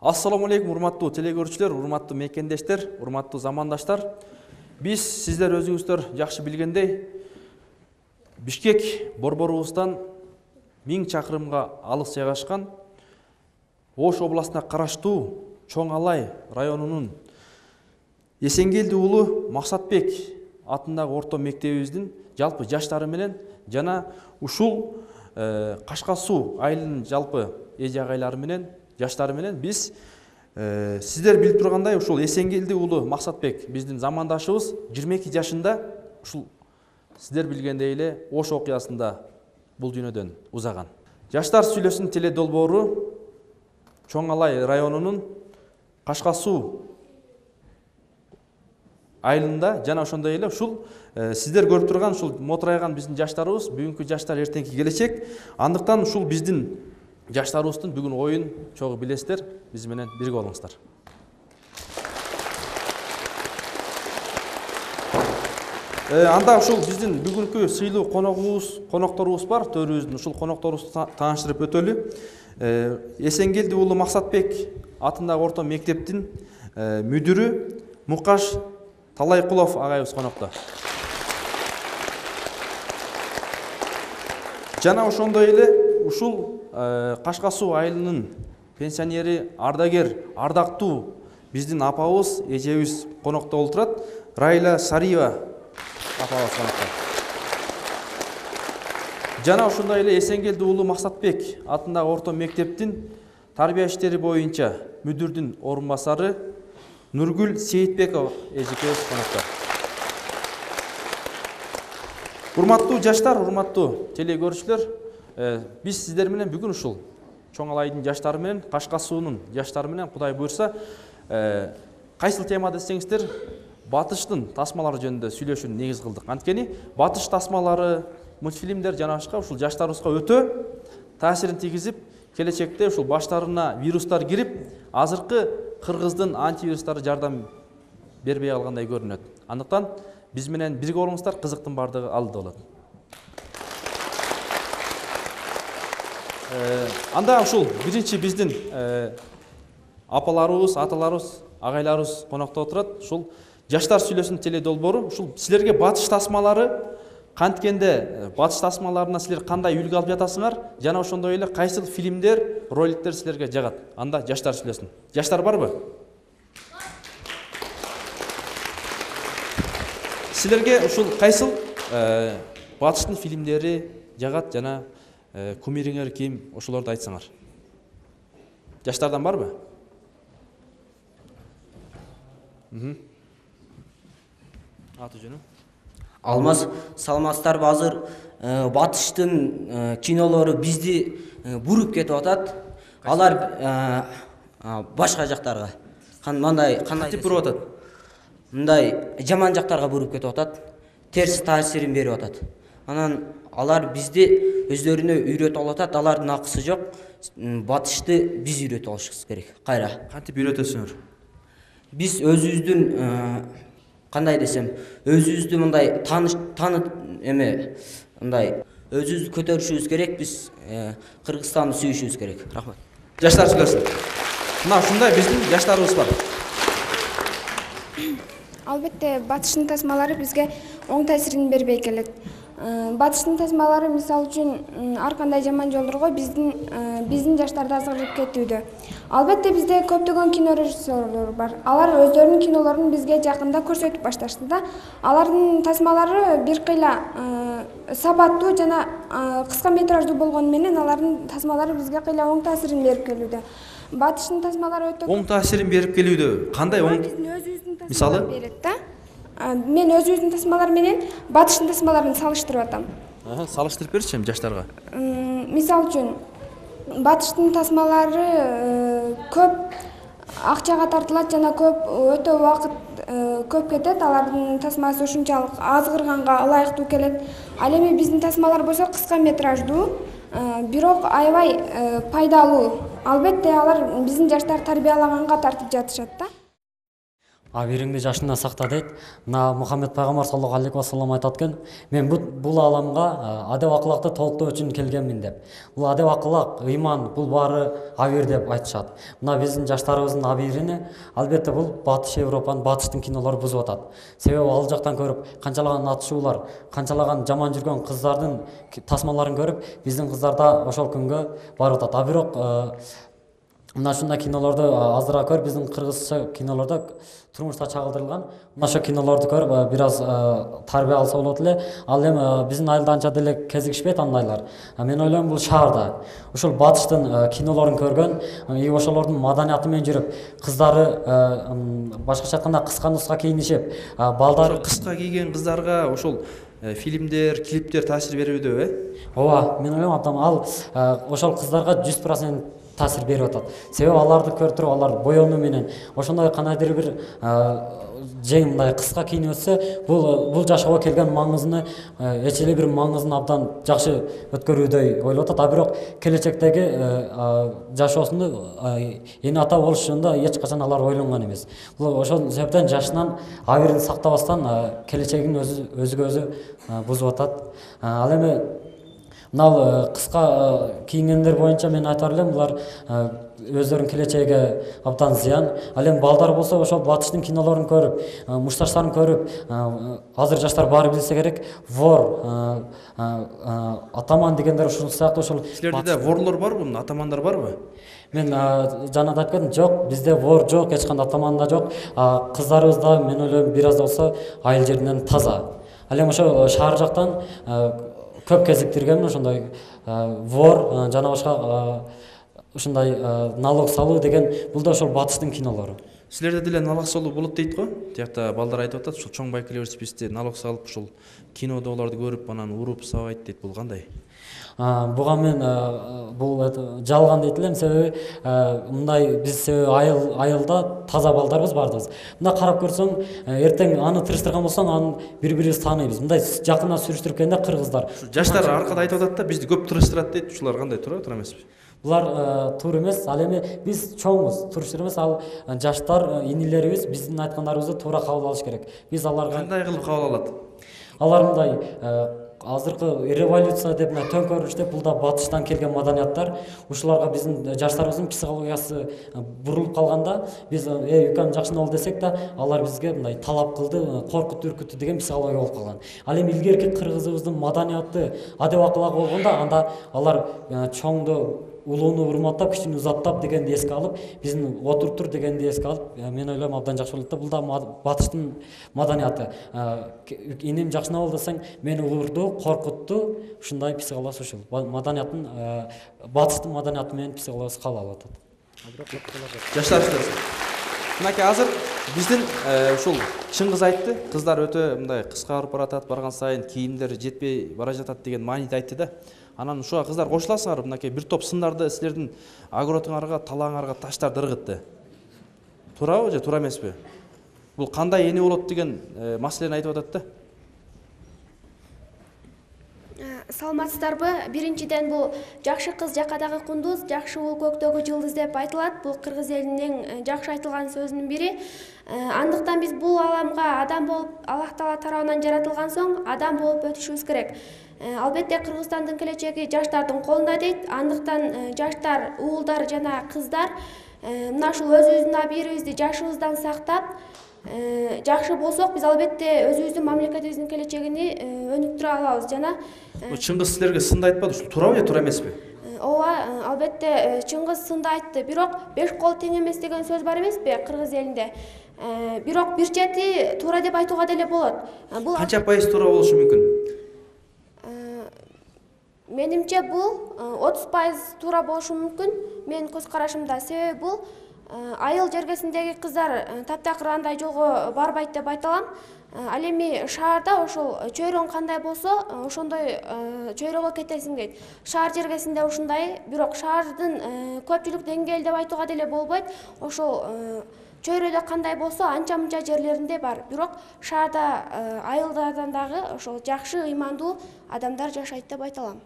Ассаламу алейкум, урматтуу телекөрүүчүлөр, урматтуу мекендештер, урматтуу замандаштар. Биз сиздер өзүңүздөр жакшы билгендей, Бишкек борборубуздан 1000 чакырымга алыс жайгашкан Ош областына караштуу Чоң Алай районунун Эсенгелди уулу Максатбек атындагы орто мектебибиздин жалпы жаштары менен жана ушул Кашка Суу айылынын жалпы эже агайлары менен жаштары менен биз сиздер билип тургандай ушул Эсенгелди уулу Максатбек биздин замандашыбыз 22 жашында ушул сиздер билгендей эле Ош окуясында бул дүйнөдөн узаган. Жаштар сүйлөсүн теле долбоору Чоң Алай районунун Кашка Суу айылында жана ошондой эле ушул сиздер көрүп турган ушул мотурайган биздин жаштарыбыз бүгүнкү жаштар эртеңки келечек. Андыктан ушул биздин жаштарыбыздын бүгүн оюн чогуу билесиздер, биз менен бирге болуңуздар. Анда ушул биздин бүгүнкү сыйлуу конокторубуз бар, төрүбүздүн ушул конокторубузду тааныштырып өтөлү. Эсенгелди уулу Максатбек атындагы орто мектептин мүдүрү Мукаш Талайкулов агайыбыз конокто. Жана ошондой эле ушул Кашка Суу айылынын пенсионери, ардагер, ардактуу биздин апабыз, эжебиз конокто болуп турат. Райла Сариева апабыз конокто. Жана ошондой эле Эсенгелди уулу Максатбек атындагы орто мектептин тарбия иштери боюнча мүдүрдүн орун басары Нургүл Сейитбекова эжекебиз конокто. Урматтуу жаштар, урматтуу телекөрүүчүлөр, биз сиздер менен бүгүн ушул Чоң Алайдын жаштары менен, Кашка Суунун жаштары менен Кудай буйрса, кайсыл тема десеңиздер, батыштын тасмалары жөнүндө сүйлөшүүнү негиз кылдык. Анткени батыш тасмалары, мультфильмдер жана башка ушул жаштарыбызга өтө таасирин тийгизип, келечекте ушул баштарына вирустар кирип, азыркы кыргыздын антивирустары жардам бербей калгандай көрүнөт. Андыктан биз менен бирге болуңуздар, кызыктын бардыгы алда болот. Анда ушул биринчи биздин апаларыбыз, аталарыбыз, агайларыбыз конокто отурат. Ушул жаштар сүйлөсүн теле долбоору, ушул силерге батыш тасмалары канткенде, батыш тасмаларына силер кандай үлгү алып жатасыңар, жана ошондой эле кайсыл фильмдер, роликтер силерге жагат. Анда жаштар сүйлөсүн. Жаштар барбы? Силерге ушул кайсыл батыштын фильмдери жагат жана кумириңер ким, ошолорду айтсаңар. Жаштардан барбы? Аты жөнү? Алмаз, саламатсыздарбы? Азыр батыштын кинолору бизди буруп кетип атат. Алар башка жактарга. Кантип буруп атат? Мындай жаман жактарга буруп кетип атат. Терс таасирин берип атат. Анан алар бизди өздөрүнө үйрөтүп алатат. Алардын акысы жок. Батышты биз үйрөтүп алышыбыз керек. Кайра. Кантип үйрөтөсүңөр? Биз өзүбүздүн кандай десем, өзүбүздү мындай мындай өзүбүздү көтөрүшүбүз керек. Биз Кыргызстанды сүйүшүбүз керек. Рахмат. Жаштар сүйлөсүн. Мына ушундай биздин жаштарыбыз бар. Албетте, батыштын тасмалары бизге оң таасирин бербей келет. Батыштын тасмалары мисалы үчүн ар кандай жаман жолдорго биздин жаштарды азгырып кетүүдө. Албетте бизде көптөгөн кино режиссерлор бар. Алар өздөрүнүн кинолорун бизге жакында көрсөтүп башташты да. Алардын тасмалары бир кыйла сабаттуу жана кыска метраждуу болгону менен алардын тасмалары бизге кыйла оң таасирин берип келүүдө. Батыштын тасмалары өтө оң таасирин берип келүүдө. Кандай оң? Мисалы? Мен өзүбүздүн тасмалар менен батыштын тасмаларын салыштырып атам. Салыштырып берчи жаштарга. Мисалы үчүн батыштын тасмалары көп акчага тартылат жана өтө убакыт көп кетет. Алардын тасмасы ушунчалык азгырганга ылайыктуу келет. Ал эми биздин тасмалар болсо кыска метраждуу, бирок аябай пайдалуу. Албетте алар биздин жаштар тарбиялаганга тартып жатышат да. абириңди жашыңдан сакта дейт. Мына Мухаммед пайгамбар саллаллаху алейхи вассалам айтат экен, мен бул ааламга адеп акылакты толуктоо үчүн келгенмин деп. Бул адеп акылак, ыйман, бул баары абир деп айтышат. Мына биздин жаштарыбыздын абирини албетте бул Батыш Европанын, батыштын кинолору бузуп атат. Себеби ал жактан көрүп канчалаган атышуулар, канчалаган жаман жүргөн кыздардын тасмаларын көрүп, биздин кыздар да ошол күнгө барып атат. А бирок мына ушундай кинолорду азыраак көрүп, биздин кыргызча кинолордо турмушта чагылдырылган. Мына ошол кинолорду көрүп бир аз тарбия алса болот эле. Ал эми биздин айылда анча деле кезигишпейт андайлар. Мен ойлойм бул шаарда ошол батыштын кинолорун көргөн, ошолордун маданияты менен жүрүп, кыздары башкача айтканда кыска нуска кийинишип, балдары кыска кийген кыздарга ошол фильмдер, клиптер таасир берүүдө, ооба, мен ойлойм абдан ал ошол кыздарга 100% таасир берип атат. Себеби аларды көрүп туруп, алар боёну менен ошондой кандайдыр бир жең мындай кыска кийинип өтсө, бул жашоого келген маңызын, эч эле бир маңызын абдан жакшы өткөрүүдөй ойлоп атат. А бирок келечектеги жашоосунда эне ата болуш жөнүндө эч качан алар ойлонгон эмес. Бул ошол себептен жашынан абирин сактабастан келечегин өзүгө өзү бузуп атат. Ал эми мына кыска кийингендер боюнча мен айтар элем, булар өздөрүнүн келечегине абдан зыян. Ал эми балдар болсо ошол батыштын кинолорун көрүп, мушташтарын көрүп, азыр жаштар баары билсе керек, вор, атаман дегендер ушул сыяктуу ошол. Силерде ворлор барбы, атамандар барбы? Мен жана да айткам, жок, бизде вор жок, эч кандай атаман да жок. Кыздарыбыз да мен ойлойм бир аз да болсо айыл жеринен таза. Ал эми ошо шаар жактан көп кезиктиргенмин ошондой вор жана башка ушундай налог салуу деген, бул да ошол батыштын кинолору. Силерде деле налог салуу болот дейт го. Тиякта балдар айтып атат, ушул чоң байкелер списте налог салып, ушул кинодо оларды көрүп, анан уруп сабайт дейт. Бул кандай? Буга мен бул жалган дейт элем, себеби мындай биз айылда таза балдарбыз бардыбыз. Мына карап көрсөң, эртең аны тырыштырган болсоң, аны бири-бирибизди тааныйбыз. Мындай жакындан сүрүштүрүп кыргыздар. Жаштар аркада айтып атат да, бизди көп тырыштырат дейт. Ушулар кандай, туура эмеспи? Булар туура эмес. Ал эми биз чоңбуз, туруштур эмес. Ал жаштар, инилерибиз биздин айткандарыбызды туура кабыл алыш керек. Биз аларга кандай кылып кабыл алат? Алар мындай азыркы революция деп төңкөрүш деп, бул да батыштан келген маданияттар. Ушуларга биздин жаштарыбыздын психологиясы бурулуп калганда, биз үкем жакшы болду десек да, алар бизге мындай талап кылды, коркутту, үркүттү деген психология болуп калган. Ал эми илгерки кыргызыбыздын маданияты, адеп акылак болгондо, анда алар чоңду, улууну урматтап, кичини узаттап дегенди эске алып, биздин отуруптур дегенди эске алып, мен ойлойм абдан жакшы болот да. Бул да батыштын маданияты. Инем жакшы болду десең, мени урду, коркутту, ушундай психологиясы ушул. Маданияттын, батыштын маданияты менен психологиясы кабыл алып атат. Жаштар, мынакей азыр биздин ушул чыңгыз айтты, кыздар өтө мындай кыска барып баратат, барган сайын кийимдер жетпей бара жатат деген маанийди айтты да. Анан ушуга кыздар кошуласыңар, мынакей бир топ сындарды силердин огородуңарга, талааңарга таштарды ыргытты. Туурабы же туура эмеспи? Бул кандай эне болот деген маселени айтып атат да. Саламатсыздарбы? Биринчиден бул жакшы кыз жакадагы кундуз, жакшы уул көктөгү жылдыз деп айтылат. Бул кыргыз элинин жакшы айтылган сөзүнүн бири. Андыктан биз бул ааламга адам болуп, Аллах Таала тарабынан жаратылган соң адам болуп өтүшүбүз керек. Албетте Кыргызстандын келечеги жаштардын колунда дейт. Андыктан жаштар, уулдар жана кыздар мына ушул өзүбүздүн абийирибизди жашыбыздан сактап, жакшы болсок, биз албетте өзүбүздүн мамлекетибиздин келечегини өнүктүрө алабыз. Жана Чыңгыз силерге сынды айтпады, ушул туурабы же туура эмеспи? Ооба, албетте Чыңгыз сынды айтты. Бирок беш кол тең эмес деген сөз бар эмеспи кыргыз элинде? Бирок бир чети туура деп айтууга деле болот. Бул Канча пайыз туура болушу мүмкүн? Менимче бул 30% туура болушу мүмкүн. Менин көз карашымда. Себеби бул айыл жергесиндеги кыздар таптакыр андай жолго барбайт деп айта алам. Ал эми шаарда ошол чөйрөң кандай болсо, ошондой чөйрөгө кетесиң дейт. Шаар жергесинде ушундай, бирок шаардын көпчүлүк деңгээли деп айтууга деле болбойт. Ошол чөйрөдө кандай болсо, анча-мынча жерлеринде бар. Бирок шаарда, айылдардан дагы ошол жакшы, ыймандуу адамдар жашайт деп айта алам.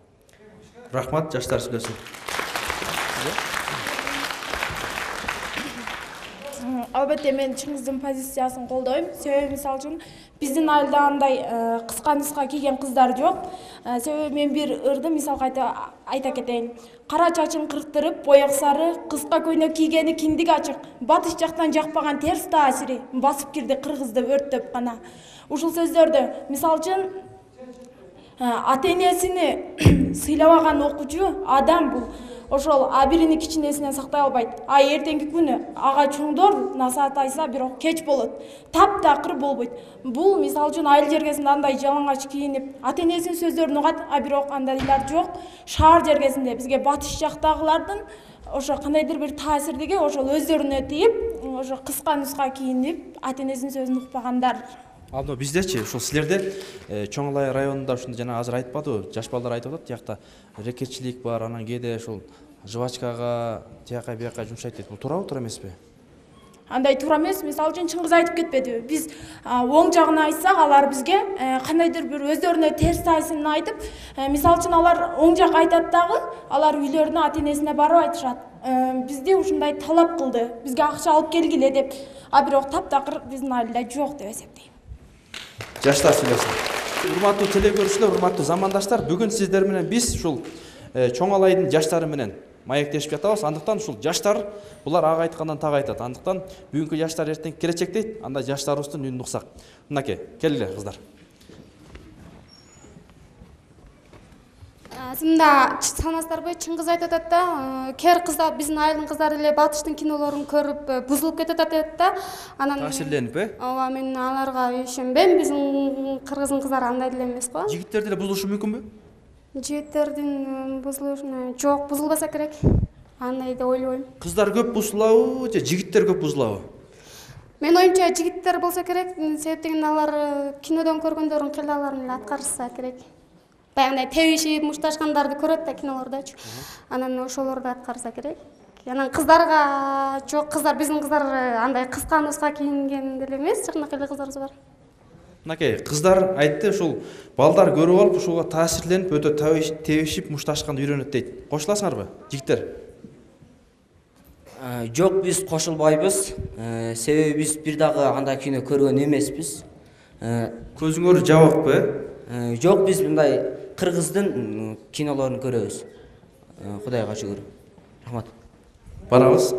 Рахмат, жаштар сүйлөсүн. Албетте мен чыңгыздын позициясын колдойм. Себеби мисалы үчүн биздин айылда андай кыска нуска кийген кыздар жок. Себеби мен бир ырды мисал айта кетейин. Кара чачын кырктырып, боек сары, кыска көйнөк кийгени киндиги ачык. Батыш жактан жакпаган терс таасири басып кирди кыргызды өрттөп гана. Ушул сөздөрдү мисалы үчүн ата энесини сыйлабаган окуучу адам бул. Ошол бирини кичинесинен сактай албайт. Эртеңки күнү ага чоңдор насаат айса, бирок кеч болот. Таптакыр болбойт. Бул мисалы үчүн айыл жергесинде андай жалаңач кийинип, ата энесинин сөздөрүн угат, бирок андайлар жок. Шаар жергесинде бизге батыш жактагылардын ошо кандайдыр бир таасирдиги ошол өздөрүнө тийип, ошо кыска нуска кийинип, ата энесинин сөзүн укпагандар. Ал биздечи ушул силерде Чоң Алай районунда ушундай жана азыр айтпадыбы, жаш балдар айтып атат, тиякта рекетчилик бар, анан кээде ушул жвачкага, тияка бияка жумшайт дейт. Бул туурабы, туура эмеспи? Андай туура эмес. Мисалы үчүн Чыңгыз айтып кетпедиби? Биз оң жагын айтсак, алар бизге кандайдыр бир өздөрүнө терс таасирин айтып, мисалы үчүн алар оң жак айтат дагы, алар үйлөрүнө ата энесине барып айтышат. Бизди ушундай талап кылды, бизге акча алып келгиле деп. Бирок таптакыр биздин айылда жок деп эсептейм. Жаштар сүйлөсүн. Урматтуу теле көрүүчүлөр, урматтуу замандаштар, бүгүн сиздер менен биз ушул Чоң Алайдын жаштары менен маектешип жатабыз. Андыктан ушул жаштар булар ага айткандан так айтат. Андыктан бүгүнкү жаштар эртеңки келечек дейт. Анда жаштарыбыздын үнүн уксак. Мынакей, келгиле кыздар. Мында саламатсыздарбы? Чыңгыз айтып атат да, кер кыздар, биздин айылдын кыздары эле батыштын кинолорун көрүп бузулуп кетип атат да. Анан таасирленип, ооба, мен аларга ишенбейм. Биздин кыргыздын кыздары андай деле эмес го. Жигиттерди эле бузулушу мүмкүнбү? Жигиттердин бузулушуна жок, бузулбаса керек. Андай деп ойлойм. Кыздар көп бузулабы же жигиттер көп бузулабы? Мен оюмча жигиттер болсо керек, себептен алар кинодон көргөндөрүн кыйлаларын эле аткарышса керек. Баягындай тебишип, мушташкандарды көрөт да кинолордочу. Анан ошолорду аткарса керек. Анан кыздарга жок, кыздар, биздин кыздар андай кыска нуска кийинген деле эмес, жакынакай эле кыздарыбыз бар. Мынакей, кыздар айтты, ушул балдар көрүп алып, ушуга таасирленип, өтө тебишип, мушташканды үйрөнөт дейт. Кошуласыңарбы, жигиттер? Жок, биз кошулбайбыз. Себеби биз бир дагы андай кино көргөн эмеспиз. Көзүңөр жабыкпы? Жок, биз мындай кыргыздын кинолорун көрөбүз. Кудайга шүгүр. Рахмат. Барабыз.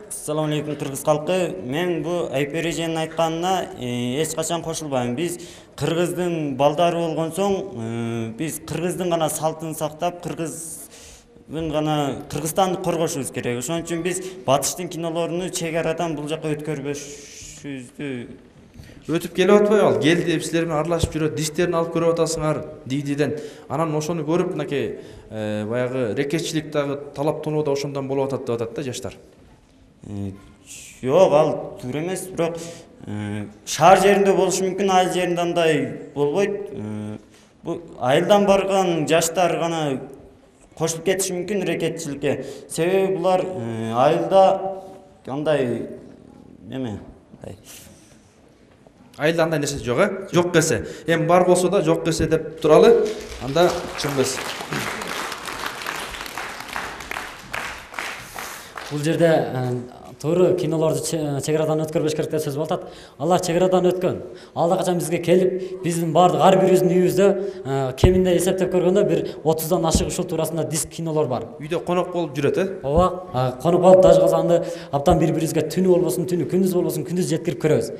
Assalamu alaikum кыргыз калкы. Мен бу Айпер эженин айтканына эч качан кошулбайм. Биз кыргыздын балдары болгон соң, биз кыргыздын гана салтын сактап, Кыргызстанды коргошубуз керек. Ошон үчүн биз батыштын кинолоруну чек арадан бул жака өткөрбөшүбүздү. Өтүп келип атпайбы ал? Келди, силер менен аралашып жүрөт, дистерин алып көрүп атасыңар DVD-ден. Анан ошону көрүп, мынакей баягы рекетчилик дагы талаптануу да ошондон болуп атат деп атат да жаштар. Жок, ал туура эмес, бирок шаар жеринде болушу мүмкүн, айыл жеринде андай болбойт. Бу айылдан барган жаштар гана кошулуп кетиши мүмкүн рекетчиликке. Себеби булар айылда андай Айылда андай нерсе жок, Жок келсе. Эми бар болсо да жок келсе деп туралы. Анда Чыңгыз. Бул жерде туура кинолорду чек арадан өткөрбөш керек деп сөз болуп атат. Алар чек арадан өткөн. Алда качан бизге келип, биздин бардык ар бирибиздин үйүбүздө кеминде эсептеп көргөндө бир 30дан ашык ушул туурасында диск кинолор бар. Үйдө конок болуп жүрөт, Ооба, конуп алып дажы калсаңды абдан бири-бирибизге түнү болбосун түнү, күндүз болбосун күндүз жеткирип көрөбүз.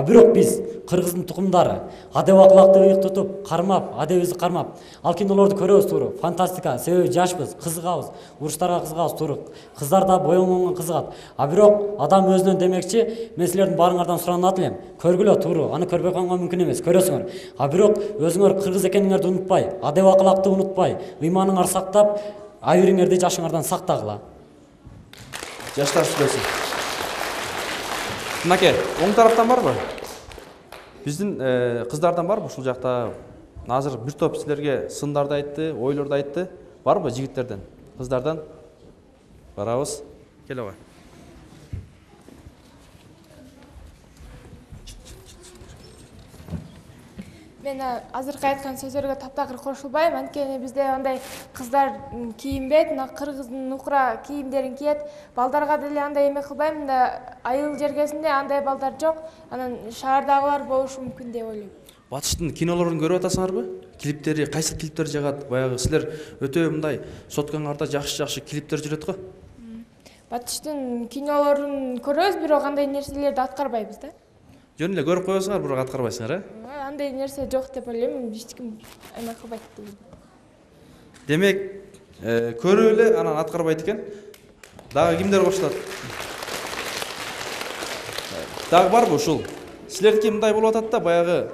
Бирок биз кыргыздын тукумдары адеп акылакты ыйык тутуп, кармап, адебибизди кармап, ал кинолорду көрөбүз туура. Фантастика, себеби жашпыз, кызыгабыз, уруштарга кызыгабыз туура. Кыздар да боюнгонго кызыгат. Бирок адам өзүнөн демекчи, мен силердин баарыңардан суранат элем. Көргүлө туура, аны көрбөй койгонго мүмкүн эмес, көрөсүңөр. Бирок өзүңөр кыргыз экениңерди унутпай, адеп акылакты унутпай, ыйманыңарды сактап, айырыңарды жашыңардан сактагыла. Жаштар сүйлөсүн. Мынакей, оң тараптан барбы? Биздин кыздардан барбы ушул жакта? Азыр бир топ силерге сындарды айтты, ойлорду айтты. Барбы жигиттерден, кыздардан? Барабыз. Келе кой. Мен азыркы айткан сөздөргө таптакыр кошулбайм, анткени бизде андай кыздар кийинбейт, мына кыргыздын нукура кийимдерин кийет. Балдарга деле андай эме кылбайм, мында айыл жергесинде андай балдар жок, анан шаардагылар болушу мүмкүн деп ойлойм. Батыштын кинолорун көрүп атасыңарбы? Клиптери, кайсы клиптер жагат? Баягы силер өтө мындай соткаңарда жакшы клиптер жүрөт го. Батыштын кинолорун көрөбүз, бирок андай нерселерди аткарбайбыз да. Жөн эле көрүп коесуңар, бирок аткарбайсыңар, Андай нерсе жок деп ойлойм, эч ким эме кылбайт дейм. Демек, көрүп эле анан аткарбайт экен. Дагы кимдер кошулат? Дагы барбы ушул? Силердики мындай болуп атат да, баягы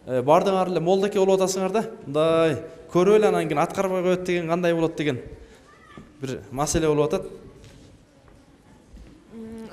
бардыңар эле молдоке болуп атасыңар да. Мындай көрүп эле анан кийин аткарбай коет деген кандай болот деген бир маселе болуп атат.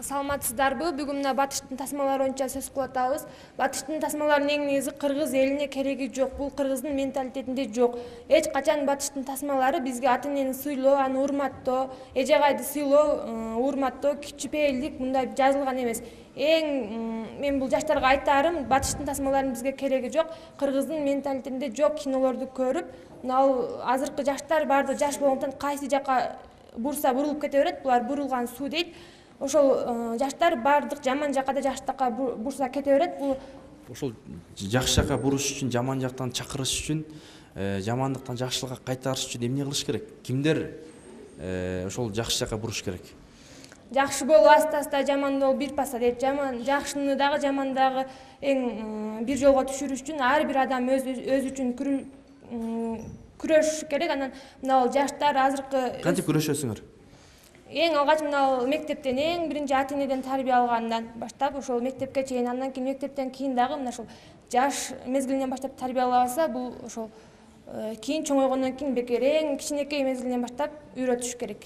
Саламатсыздарбы? Бүгүн мына Батыштын тасмалары боюнча сөз кылып атабыз. Батыштын тасмаларынын эң негизи кыргыз элине кереги жок. Бул кыргыздын менталитетинде жок. Эч качан Батыштын тасмалары бизге ата энени сыйлоо, аны урматтоо, эже-агайды сыйлоо, урматтоо, кичипейилдик мындай жазылган эмес. Мен бул жаштарга айтарым, Батыштын тасмаларынын бизге кереги жок. Кыргыздын менталитетинде жок кинолорду көрүп, мына азыркы жаштар баардыгы жаш болгондон кайсы жака бурса бурулуп кете берет. Булар бурулган суу дейт. Ошол жаштар баардык жаман жакка да жакшы жакка бурса кете берет. Бул ошол жакшы жакка буруш үчүн, жаман жактан чакырыш үчүн, жамандыктан жакшылыкка кайтарыш үчүн эмне кылыш керек? Кимдер ошол жакшы жакка буруш керек? жакшы болуп аста жаман болуп бир паса дейт. Жакшыны дагы жаманды дагы эң бир жолго түшүрүш үчүн ар бир адам өзү үчүн күрөшүш керек. Анан мына жаштар азыркы Кантип күрөшөсүңөр? Эң алгач мына мектептен эң биринчи ата энеден тарбия алгандан баштап ошол мектепке чейин, андан кийин мектептен кийин дагы мына ошол жаш мезгилинен баштап тарбиялабаса, бул ошол кийин чоңойгондон кийин бекер эң кичинекей мезгилинен баштап үйрөтүш керек.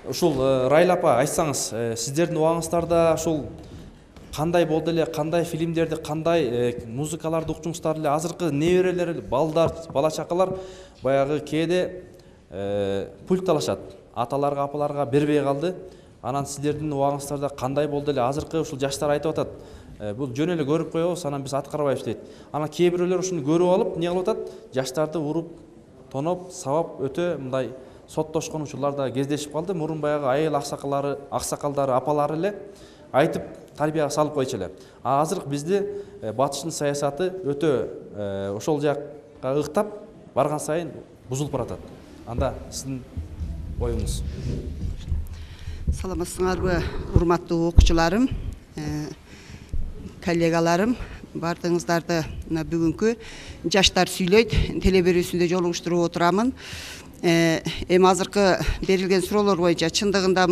Ушул Райла апа, айтсаңыз, сиздердин убагыңыздарда ушул кандай болду эле, кандай фильмдерди, кандай музыкаларды укчуңуздар эле? Азыркы неберелер, балдар, бала чакалар баягы кээде пульт алышат. Аталарга, апаларга бербей калды. Анан сиздердин убагыңыздарда кандай болду эле? Азыркы ушул жаштар айтып атат. Бул жөн эле көрүп коебуз, анан биз аткарбайбыз дейт. Анан кээ бирөөлөр ушуну көрүп алып, эмне кылып атат? Жаштарды уруп, тоноп, сабап өтө мындай соттошкон учурлар да кездешип калды. Мурун баягы айыл аксакалдары, апалары эле айтып тарбияга салып койчу эле. Азыр бизде Батыштын саясаты өтө ошол жакка ыктап барган сайын бузулуп баратат. Анда сиздин оюңуз? Саламатсыңарбы, урматтуу окуучуларым, коллегаларым, бардыгыңыздарды бүгүнкү жаштар сүйлөйт телеберүүсүндө жолугуштуруп отурамын. Эми азыркы берилген суроолор боюнча чындыгында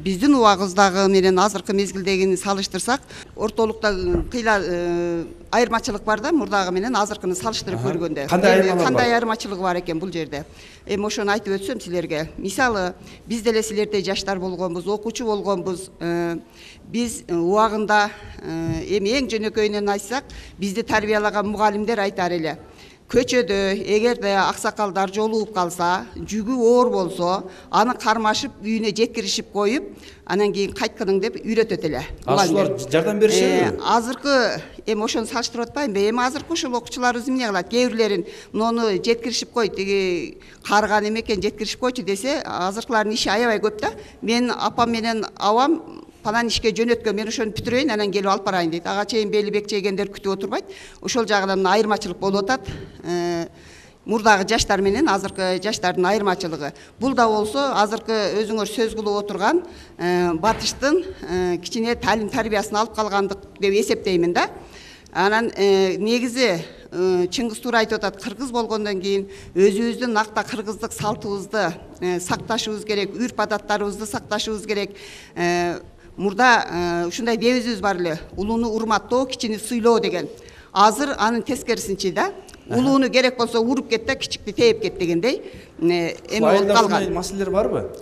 биздин убагыбыздагы менен азыркы мезгилдегини салыштырсак, ортолукта кыйла айырмачылык бар да, мурдагы менен азыркыны салыштырып көргөндө. Кандай айырмачылыгы бар экен бул жерде? Эми ошону айтып өтсөм силерге. Мисалы, биз деле силердей жаштар болгонбуз, окуучу болгонбуз. Биз убагында эми эң жөнөкөйүнөн айтсак, бизди тарбиялаган мугалимдер айтар эле. Көчөдө эгерде аксакалдар жолугуп калса, жүгү оор болсо, аны кармашып үйүнө жеткиришип коюп, анан кийин кайткының деп үйрөтөт эле. Алар жардам беришеби? Азыркы эми ошону салыштырып атпаймынбы? Эми азыркы ошол окуучуларыбыз эмне кылат? Кээ бирлерин муну жеткиришип кой, тиги карыган эмекен жеткиришип койчу десе, азыркылардын иши аябай көп да. Мен апам менен абам панан ишке жөнөткөн, мен ошону бүтүрөйүн, анан келип алып барайын дейт. Ага чейин бели бек чейгендер күтүп отурбайт. Ошол жагынан айырмачылык болуп атат. Мурдагы жаштар менен азыркы жаштардын айырмачылыгы. Бул да болсо азыркы өзүңөр сөз кылып отурган Батыштын кичине талим тарбиясын алып калгандык деп эсептеймин да. Анан негизи Чыңгыз туура айтып атат, кыргыз болгондон кийин өзүбүздүн накта кыргыздык салтыбызды сакташыбыз керек, үрп адаттарыбызды сакташыбыз керек. Мурда ушундай дебизибиз бар эле, улууну урматтоо, кичини сыйлоо деген. Азыр анын тескерисинчи да, улууну керек болсо уруп кет да, кичикти тээп кет дегендей эми болуп калган. Маселелер барбы?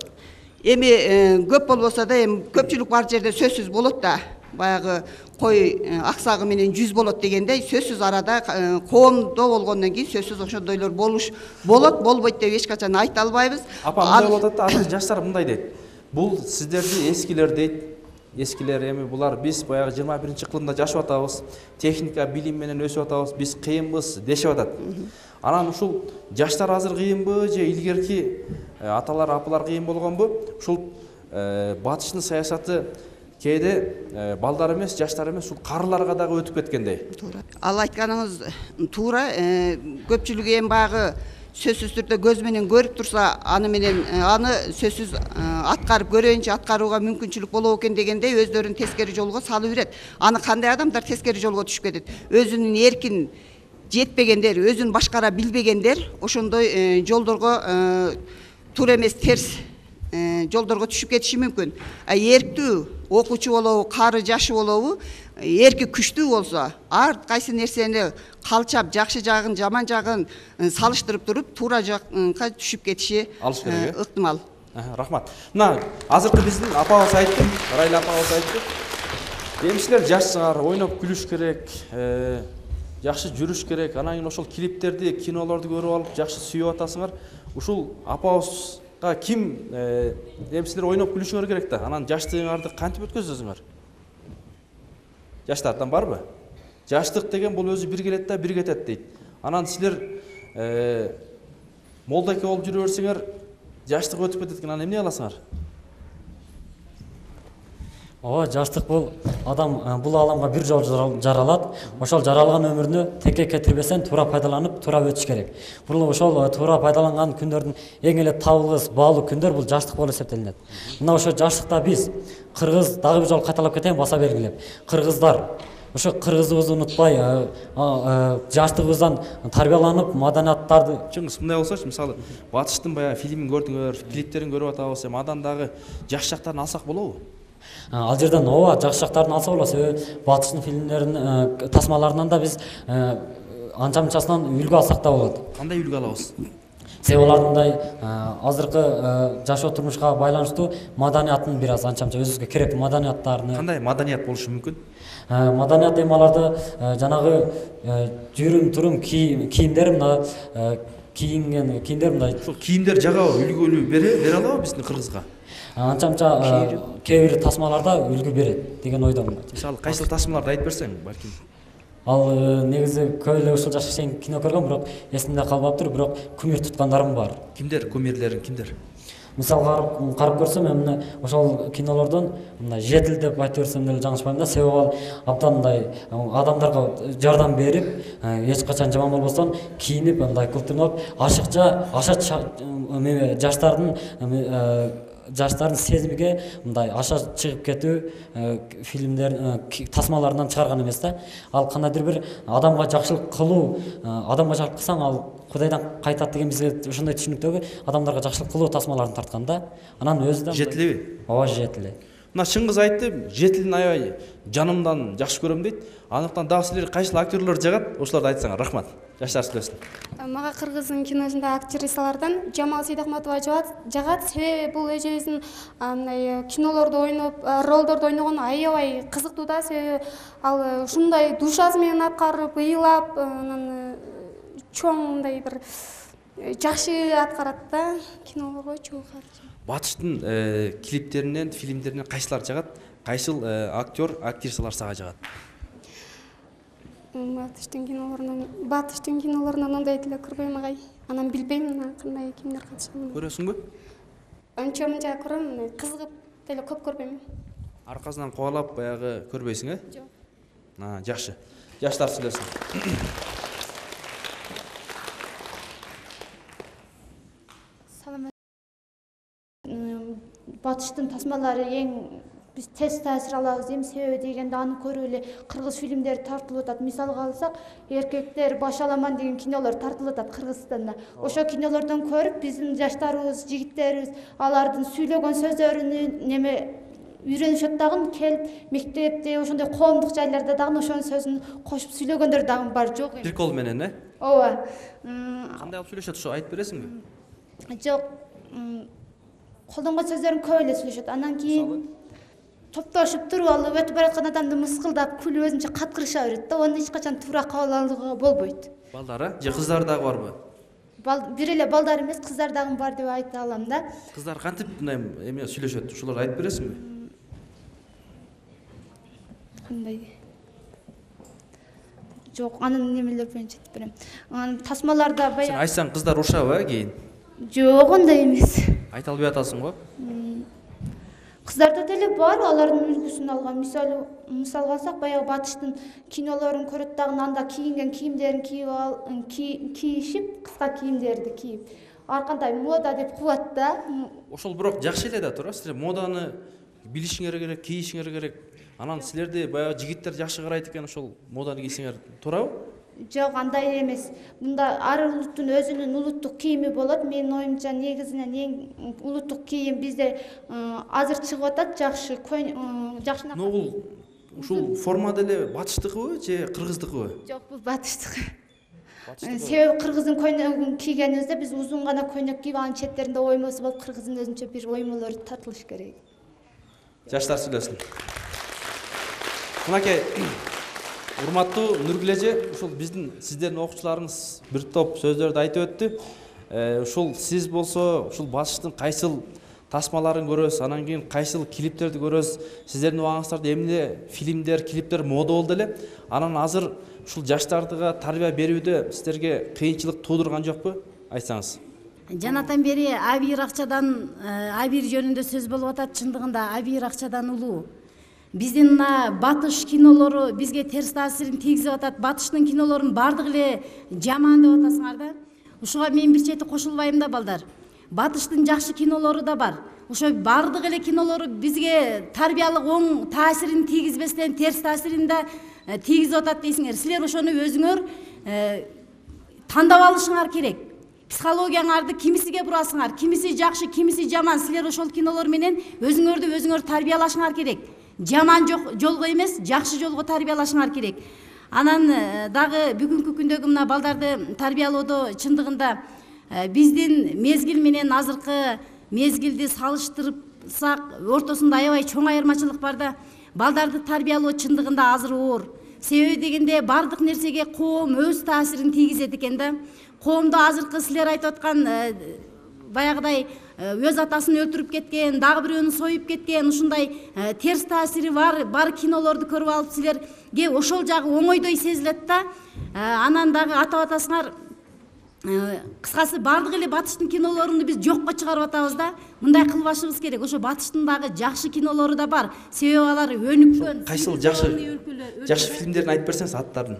Эми көп болбосо да, эми көпчүлүк бар жерде сөзсүз болот да. Баягы кой аксагы менен жүз болот дегендей, сөзсүз арада коомдо болгондон кийин сөзсүз ошондойлор болот, болбойт деп эч качан айта албайбыз. Апа, мындай болуп атат да, азыр жаштар мындай дейт. Бул сиздерди эскилер дейт. эскилер эми булар биз баягы 21-кылымда жашап атабыз, техника билим менен өсүп атабыз, биз кыйынбыз дешип атат. Анан ушул жаштар азыр кыйынбы же илгерки аталар, апалар кыйын болгонбу? Ушул батыштын саясаты кээде балдар эмес, жаштар эмес, ушул карыларга дагы өтүп кеткендей. Туура. Ал айтканыңыз туура. Көпчүлүк эми баягы сөзсүз түрдө көз менен көрүп турса, аны сөзсүз аткарып көрөйүнчү, аткарууга мүмкүнчүлүк болобу экен дегендей өздөрүн тескери жолго салып берет. Аны кандай адамдар тескери жолго түшүп кетет? Өзүнүн эркин жетпегендер, өзүн башкара билбегендер ошондой жолдорго туура эмес, терс жолдорго түшүп кетиши мүмкүн. Эрктүү окуучу болобу, кары жашы болобу, эрки күчтүү болсо, ар кайсы нерсени калчап, жакшы жагын, жаман жагын салыштырып туруп, туура жакка түшүп кетиши ыктымал. Рахмат. Мына азыркы биздин апабыз айтты, Райла апабыз айтты. Эми силер жашсыңар, ойноп күлүш керек, жакшы жүрүш керек. Анан кийин ошол клиптерди, кинолорду көрүп алып, жакшы сүйүп атасыңар. Ушул апабызга ким эми силер ойноп күлүшүңөр керек да. Анан жаштыгыңарды кантип өткөзөсүңөр? Жаштардан барбы? Жаштык деген бул өзү бир келет да, бир кетет дейт. Анан силер молдоке болуп жүрө берсеңер, жаштык өтүп кетет экен. Анан эмне кыласыңар? Ооба, жаштык бул адам бул аламга бир жолу жаралат. Ошол жаралган өмүрүнү текке кетирбестен туура пайдаланып, туура өтүш керек. Бул ошол туура пайдаланган күндөрдүн эң эле табылгыс, баалуу күндөр бул жаштык болуп эсептелинет. Мына ошо жаштыкта биз кыргыз дагы бир жолу кайталап кетейин, баса белгилеп. Кыргыздар ошо кыргызыбызды унутпай, жаштыгыбыздан тарбияланып, маданияттарды чыңгыз мындай болсочу, мисалы батыштын баягы фильмин көрдүңөр, клиптерин көрүп атабыз, эми андан дагы жакшы жактарын алсак болобу? Ал жерден ооба жакшы жактарын алса болот. Себеби батыштын фильмдеринин тасмаларынан да биз анча-мынчасынан үлгү алсак да болот. Кандай үлгү алабыз? Себеби алардындай азыркы жашоо турмушка байланыштуу маданияттын бир аз анча-мынча өзүбүзгө керектүү маданияттарын. Кандай маданият болушу мүмкүн? Маданият эми аларды жанагы жүрүм-турум кийимдер, мына кийинген кийимдер мындай. Ушул кийимдер жагабы, үлгүлүү бере алабы биздин кыргызга? Анча-мынча кээ бир тасмаларда үлгү берет деген ойдомун. Мисалы кайсыл тасмаларды айтып берсең, балким. Ал негизи көп эле ушул жашка чейин кино көргөм, бирок эсимде калбаптыр, бирок кумир туткандарым бар. Кимдер кумирлерин, кимдер? Мисалга карап көрсөм, эми ошол кинолордон мына жетил деп айтып берсем деле жаңылышпайм да, себеби ал абдан мындай адамдарга жардам берип, эч качан жаман болбостон кийинип, мындай кылтырмалып, ашыкча жаштардын сезимиге мындай аша чыгып кетүү фильмдер, тасмаларынан чыгарган эмес да. Ал кандайдыр бир адамга жакшылык кылуу, адамга жакшылык кылсаң ал Кудайдан кайтат деген бизге ошондой түшүнүктөгү адамдарга жакшылык кылуу тасмаларын тарткан да. Анан өзү да жетилеби? Ооба, жетиле. Мына чыңгыз айтты, жетилин аябай жанымдан жакшы көрөм дейт. Андыктан дагы силер кайсыл актерлор жагат, ошолорду айтсаңар. Рахмат. Жаштар сүйлөсүн. Мага кыргыздын киносунда актрисалардан Жамал Сейдахматова жагат. Себеби бул өзүбүздүн мындай кинолордо ойноп, ролдордо ойногон аябай кызыктуу да. Себеби ал ушундай душасы менен аткарып, ыйлап, анан чоң мындай бир жакшы аткарат да кинолорго чогуу. Батыштын клиптеринен, фильмдеринен кайсылар жагат? Кайсыл актер, актрисалар сага жагат? Батыштын кинолорунан андай деле көрбөйм агай. Анан билбейм кандай кимдер катышканын. Көрөсүңбү? Анча-мынча көрөм, кызыгып деле көп көрбөйм. Аркасынан кубалап баягы көрбөйсүң, Жок. Жакшы. Жаштар сүйлөсүн. Батыштын тасмалары эң биз тез таасир алабыз дейм. Себеби дегенде аны көрүп эле кыргыз фильмдери тартылып атат. Мисалга алсак, Эркектер баш аламан деген кинолор тартылып атат Кыргызстанда. Ошо кинолордон көрүп биздин жаштарыбыз, жигиттерибиз алардын сүйлөгөн сөздөрүнү үйрөнүшөт дагы, келип мектепте, ошондой коомдук жайларда дагы ошонун сөзүн кошуп сүйлөгөндөр дагы бар, жок эми. Прикол менен, Ооба. Кандай алып сүйлөшөт, ошо айтып бересиңби? Жок. Колдонгон сөздөрүн көп эле сүйлөшөт. Анан кийин топтошуп туруп алып өтүп бараткан адамды мыскылдап, күлүп өзүнчө каткырыша берет да. Аны эч качан туура кабыл алууга болбойт. Балдары же кыздар дагы барбы? Бир эле балдар эмес, кыздар дагы бар деп айта алам да. Кыздар кантип мындай эме сүйлөшөт? Ушуларды айтып бересиңби? кандай жок, анын немелер боюнча айтып берем. Анан тасмаларда Сен баягы айтсаң кыздар урушабы кийин? жок, андай эмес. Айта албай атасың го. Кыздарда деле бар, алардын үлгүсүн алган. Мисалга алсак, баягы батыштын кинолорун көрөт дагы, анда кийинген кийимдерин кийишип, кыска кийимдерди кийип. Ар кандай мода деп кылат да. Ошол бирок жакшы эле да туура. Силер моданы билишиңер керек, кийишиңер керек. Анан силерди баягы жигиттер жакшы карайт экен, ошол моданы кийсеңер туурабы? Жок, андай эмес. Мында ар улуттун өзүнүн улуттук кийими болот. Менин оюмча негизинен эң улуттук кийим бизде азыр чыгып атат, жакшы жакшы. Бул ушул форма деле батыштыкыбы же кыргыздыкыбы? Жок, бул батыштык. Себеби кыргыздын көйнөгүн кийгенибизде биз узун гана көйнөк кийип, анын четтеринде оймосу болуп, кыргыздын өзүнчө бир оймолору тартылыш керек. Жаштар сүйлөсүн. Мынакей, урматтуу Нургүл эже, ушул биздин сиздердин окуучуларыңыз бир топ сөздөрдү айтып өттү. Ушул сиз болсо, ушул батыштын кайсыл тасмаларын көрөсүз, анан кийин кайсыл клиптерди көрөсүз. Сиздердин убагыңыздарда эмне фильмдер, клиптер мода болду эле. Анан азыр ушул жаштардыга тарбия берүүдө сиздерге кыйынчылык туудурган жокпу? Айтсаңыз. Жанатан бери абийир акчадан, абийир жөнүндө сөз болуп атат. Чындыгында абийир акчадан улуу. Биздин батыш кинолору бизге терс таасирин тийгизип атат. Батыштын кинолорунун бардыгы эле жаман деп атасыңар да. Ушуга мен бир чети кошулбайм да, балдар. Батыштын жакшы кинолору да бар. Ошо бардык эле кинолору бизге тарбиялык оң таасирин тийгизбестен терс таасирин да тийгизип атат дейсиңер. Силер ошону өзүңөр тандап алышыңар керек. Психологияңарды кимисиге бурасыңар, кимиси жакшы, кимиси жаман. Силер ошол кинолор менен өзүңөрдү өзүңөр тарбиялашыңар керек. Жаман жолго эмес, жакшы жолго тарбиялашыңар керек. Анан дагы бүгүнкү күндөгү мына балдарды тарбиялоодо чындыгында биздин мезгил менен азыркы мезгилди салыштырсак, ортосунда аябай чоң айырмачылык бар да. Балдарды тарбиялоо чындыгында азыр оор. Себеби дегенде бардык нерсеге коом өз таасирин тийгизет экен да. Коомдо азыркы силер айтып аткан баягыдай өз атасын өлтүрүп кеткен, дагы бирөөнү союп кеткен, ушундай терс таасири бар кинолорду көрүп алып силерге ошол жагы оңойдой сезилет да. Анан дагы атап атасыңар, кыскасы бардык эле батыштын кинолоруну биз жокко чыгарып атабыз да. Мындай кылбашыбыз керек. Ошо батыштын дагы жакшы кинолору да бар. Себеби алар өнүккөн. Кайсыл жакшы фильмдерин айтып берсеңиз аттарын.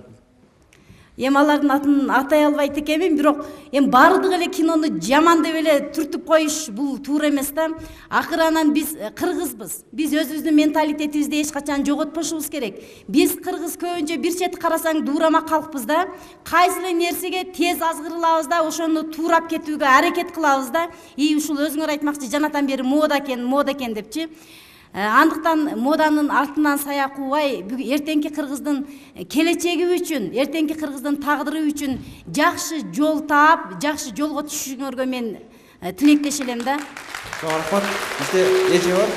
Эми алардын атын атай албайт экенмин, бирок эми бардык эле кинону жаман деп эле түртүп коюш бул туура эмес да. Акыры анан биз кыргызбыз. Биз өзүбүздүн менталитетибизди эч качан жоготпошубуз керек. Биз кыргыз көбүнчө бир чети карасаң дуурама калкпыз да. Кайсы эле нерсеге тез азгырылабыз да, ошону туурап кетүүгө аракет кылабыз да. Ушул өзүңөр айтмакчы, жанатан бери мода экен депчи. Андыктан моданын артынан сая кубай, эртеңки кыргыздын келечеги үчүн, эртеңки кыргыздын тагдыры үчүн жакшы жол таап, жакшы жолго түшүшүңөргө мен тилектеш элем да. Рахмат. Бизде эже бар.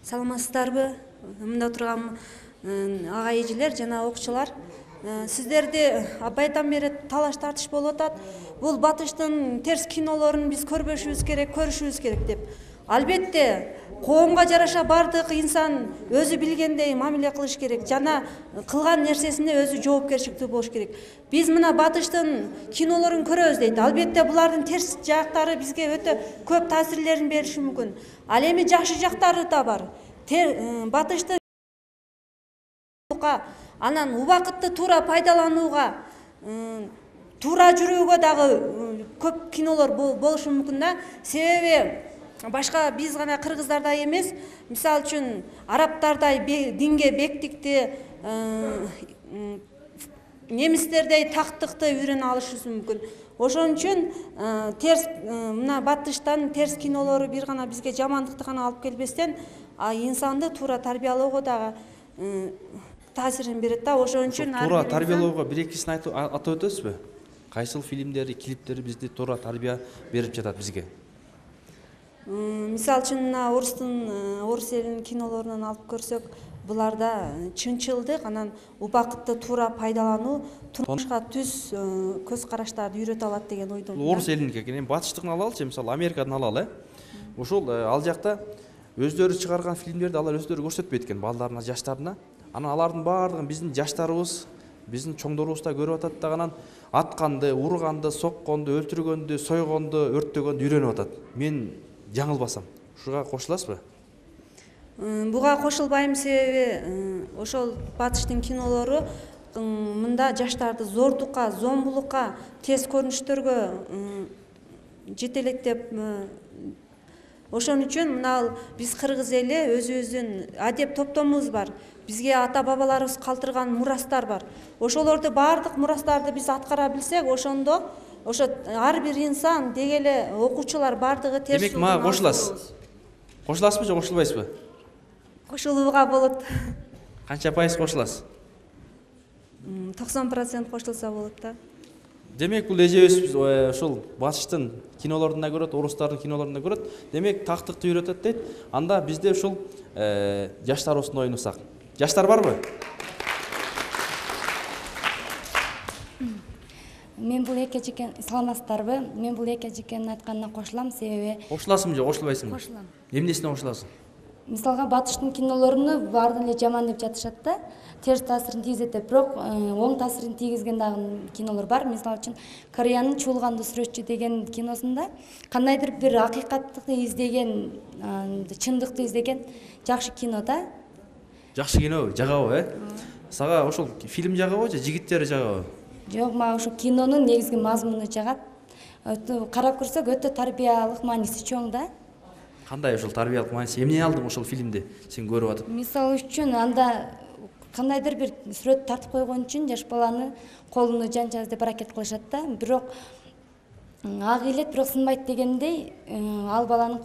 Саламатсыздарбы? Мында турган ага эжелер жана окуучулар. Сиздерди абайдан бери талаш тартыш болуп атат. Бул батыштын терс кинолорун биз көрбөшүбүз керек, көрүшүбүз керек деп. Албетте, коомго жараша бардык инсан өзү билгендей мамиле кылыш керек, жана кылган нерсесине өзү жоопкерчиликтүү болуш керек. Биз мына батыштын кинолорун көрөбүз дейт. Албетте, булардын терс жактары бизге өтө көп таасирлерин бериши мүмкүн. Ал эми жакшы жактары да бар. Батышты анан убакытты туура пайдаланууга, туура жүрүүгө дагы көп кинолор болушу мүмкүн да. Себеби башка биз гана кыргыздардай эмес, мисалы үчүн арабтардай динге бектикти, немистердей тактыкты үйрөнө алышыбыз мүмкүн. Ошон үчүн мына батыштан терс кинолору бир гана бизге жамандыкты гана алып келбестен, инсанды туура тарбиялоого дагы таасирин берет да. Ошон үчүн туура тарбиялоого бир-экисин атап өтөсүзбү? Кайсыл фильмдери, клиптери бизди туура тарбия берип жатат бизге? Мисалы үчүн мына орус элинин кинолорунан алып көрсөк, буларда чынчылдык, анан убакытты туура пайдалануу, турмушка түз көз караштарды үйрөтө алат деген ойдомун. Орус элиники экен, батыштыкын алалычы, мисалы Америкадан алалы. Ушул ал жакта өздөрү чыгарган фильмдерди алар өздөрү көрсөтпөйт экен балдарына, жаштарына. Анан алардын баардыгын биздин жаштарыбыз, биздин чоңдорубуз да көрүп атат да, анан атканды, урганды, сокконду, өлтүргөндү, сойгонду, өрттөгөндү үйрөнүп атат. Мен жаңылбасам, ушуга кошуласызбы? Буга кошулбайм, себеби ошол батыштын кинолору мында жаштарды зордукка, зомбулукка, тез көрүнүштөргө жетелектеп, ошон үчүн мына биз кыргыз эли өзүбүздүн адеп топтомубуз бар. Бизге ата бабаларыбыз калтырган мурастар бар. Ошолорду баардык мурастарды биз аткара билсек, ошондо ошо ар бир инсан деги эле окуучулар бардыгы терс. Демек мага кошуласыз. Кошуласызбы же кошулбайсызбы? Кошулууга болот. Канча пайыз кошуласыз? 90% кошулса болот да. Демек бул эжебиз ушул батыштын кинолорун да көрөт, орустардын кинолорун да көрөт. Демек тактыкты үйрөтөт дейт. Анда бизде ушул жаштарыбыздын оюнусак. Жаштар барбы? Мен бул эки жекен саламатсыздарбы? Мен бул эки жекенин айтканына кошулам, себеби кошуласыңбы же кошулбайсыңбы? Кошулам. Эмнесине кошуласың? Мисалга батыштын кинолоруну баардыгы эле жаман деп жатышат да, терс таасирин тийгизет деп, бирок оң таасирин тийгизген дагы кинолор бар. Мисалы үчүн Кореянын Чуулганды сүрөтчү деген киносунда кандайдыр бир акыйкатты издеген, чындыкты издеген жакшы кино да. Жакшы кино, жагабы, Сага ошол фильм жагабы же жигиттери жагабы? Жок, мага ошол кинонун негизги мазмуну жагат. Карап көрсөк, өтө тарбиялык мааниси чоң да. Кандай ошол тарбиялык мааниси? Эмне алдың ошол фильмди сен көрүп атып? Мисалы үчүн анда кандайдыр бир сүрөт тартып койгон үчүн жаш баланы колуну жанчабыз деп аракет кылышат да. Бирок ак илет, бирок сынбайт дегендей, ал баланын